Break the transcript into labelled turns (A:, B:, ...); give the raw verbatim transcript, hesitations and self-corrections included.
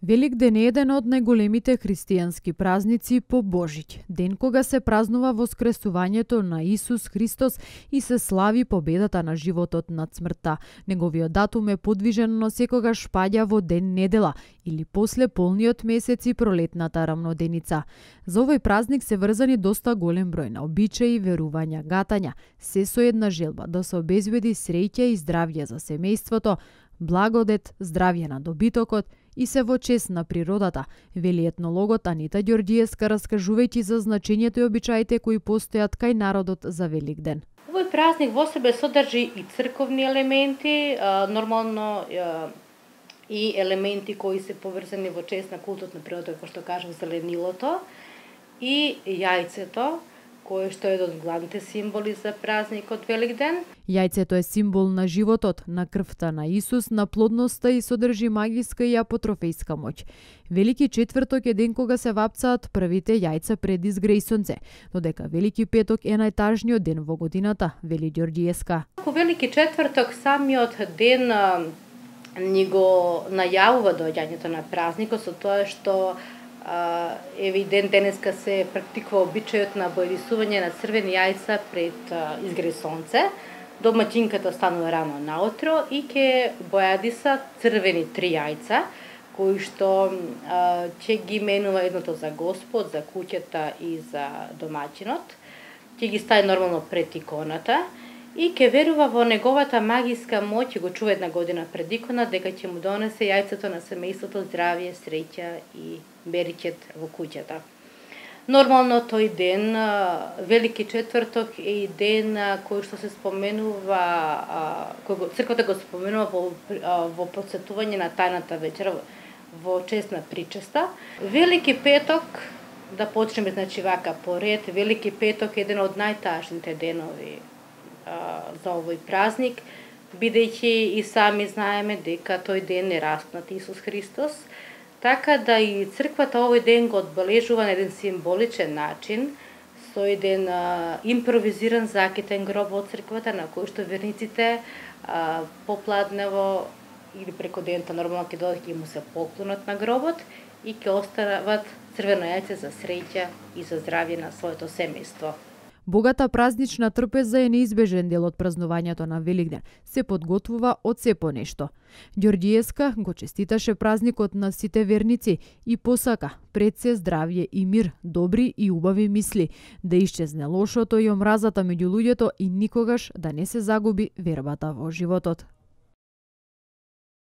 A: Великден е еден од најголемите христијански празници по Божиќ, ден кога се празнува воскресувањето на Исус Христос и се слави победата на животот над смртта. Неговиот датум е подвижен, но секогаш паѓа во ден недела или после полниот месец и пролетната рамноденица. За овој празник се врзани доста голем број на обичаи, верувања, гатања, се со една желба да се обезбеди среќа и здравје за семејството, благодет, здравје на добитокот и се во чест на природата, вели етнологот Анита Ѓорѓиевска, раскажувајќи за значењето и обичаите кои постојат кај народот за Великден.
B: Овој празник во себе содржи и црковни елементи, нормално и елементи кои се поврзани во чест на култот на природата, како што кажав, зеленилото и јајцето, кој што е еден од главните символи за празникот Великден.
A: Јајцето е символ на животот, на крвта на Исус, на плодноста и содржи магиска и апотрофејска моќ. Велики четврток е ден кога се вапцаат првите јајца пред изгрејсонце, додека Велики петок е најтажниот ден во годината, вели Ѓорѓиевска.
B: Во Велики четврток самиот ден ни го најавува доаѓањето на празникот со тоа што еве ден денеска се практикува обичајот на бојрисување на црвени јајца пред изгрејсонце. Домаќинката станува рано наутро и ќе бојадиса црвени три јајца, кои што ќе ги менува едното за Господ, за куќата и за домаќинот. Ќе ги стави нормално пред иконата и ќе верува во неговата магиска моќ и го чува една година пред икона дека ќе му донесе јајцето на семејството здравје, среќа и беричет во куќата. Нормално тој ден, Велики четврток, е и ден кој што се споменува, кој црквата го споменува во, во подсетување на тајната вечера во чест на причеста. Велики петок, да почнеме значи вака поред, Велики петок е еден од најтажните денови за овој празник, бидејќи и сами знаеме дека тој ден е распнат Исус Христос, така да и црквата овој ден го одбележува на еден символичен начин, со еден а, импровизиран закитен гроб од црквата, на кој што верниците а, попладнево или преко дента нормално ќе додат ќе му се поклонат на гробот и ќе остават црвено јајце за среќа и за здравје на своето семејство.
A: Богата празнична трпеза е неизбежен дел од празнувањето на Великден. Се подготвува од се по нешто. Ѓорѓиевска го честиташе празникот на сите верници и посака пред се здравје и мир, добри и убави мисли, да исчезне лошото и омразата меѓу луѓето и никогаш да не се загуби вербата во животот.